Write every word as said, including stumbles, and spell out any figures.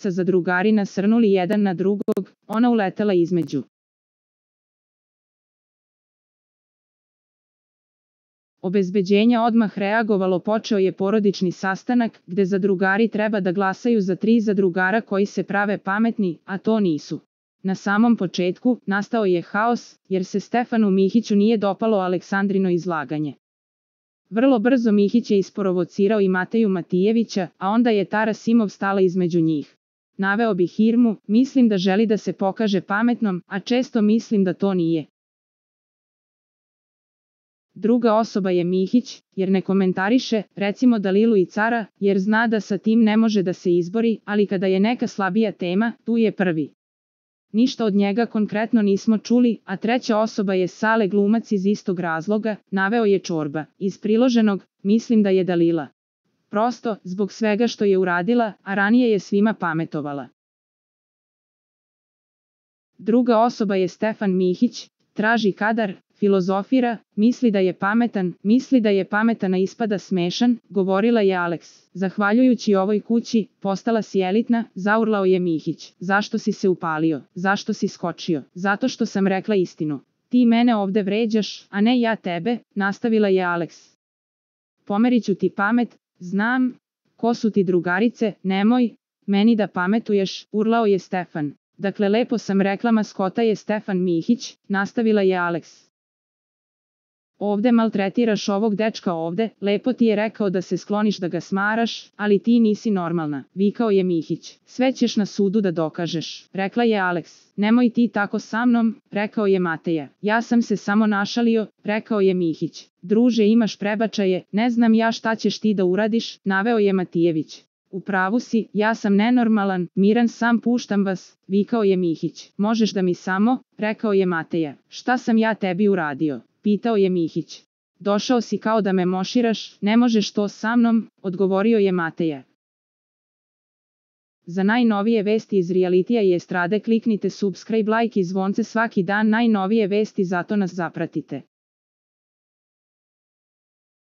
dvojica zadrugari nasrnuli jedan na drugog, ona uletela između. Obezbeđenje odmah reagovalo, počeo je porodični sastanak, gde zadrugari treba da glasaju za tri zadrugara koji se prave pametni, a to nisu. Na samom početku, nastao je haos, jer se Stefanu Mihiću nije dopalo Aleksandrino izlaganje. Vrlo brzo Mihić je isprovocirao i Mateju Matijevića, a onda je Tara Simov stala između njih. Naveo bih Irmu, mislim da želi da se pokaže pametnom, a često mislim da to nije. Druga osoba je Mihić, jer ne komentariše, recimo Dalilu i Cara, jer zna da sa tim ne može da se izbori, ali kada je neka slabija tema, tu je prvi. Ništa od njega konkretno nismo čuli, a treća osoba je Sale, glumac iz istog razloga, naveo je Čorba. Iz priloženog, mislim da je Dalila. Prosto, zbog svega što je uradila, a ranije je svima pametovala. Druga osoba je Stefan Mihić, traži kadar, filozofira, misli da je pametan, misli da je pametan a ispada smešan, govorila je Aleks. Zahvaljujući ovoj kući, postala si elitna, zaurlao je Mihić. Zašto si se upalio? Zašto si skočio? Zato što sam rekla istinu. Ti mene ovde vređaš, a ne ja tebe, nastavila je Aleks. Pomeriću ti pamet, znam, ko su ti drugarice, nemoj, meni da pametuješ, urlao je Stefan. Dakle, lepo sam rekla, maskota je Stefan Mihić, nastavila je Aleks. Ovde maltretiraš ovog dečka ovde, lepo ti je rekao da se skloniš da ga smaraš, ali ti nisi normalna, vikao je Mihić. Sve ćeš na sudu da dokažeš, rekla je Aleks. Nemoj ti tako sa mnom, rekao je Mateja. Ja sam se samo našalio, rekao je Mihić. Druže, imaš prebačaje, ne znam ja šta ćeš ti da uradiš, naveo je Matijević. U pravu si, ja sam nenormalan, miran sam, puštam vas, vikao je Mihić. Možeš da mi samo, rekao je Mateja. Šta sam ja tebi uradio? Pitao je Mihić. Došao si kao da me moširaš, ne možeš to sa mnom, odgovorio je Mateja. Za najnovije vesti iz realitija i estrade kliknite subscribe, like i zvonce svaki dan, najnovije vesti, zato nas zapratite.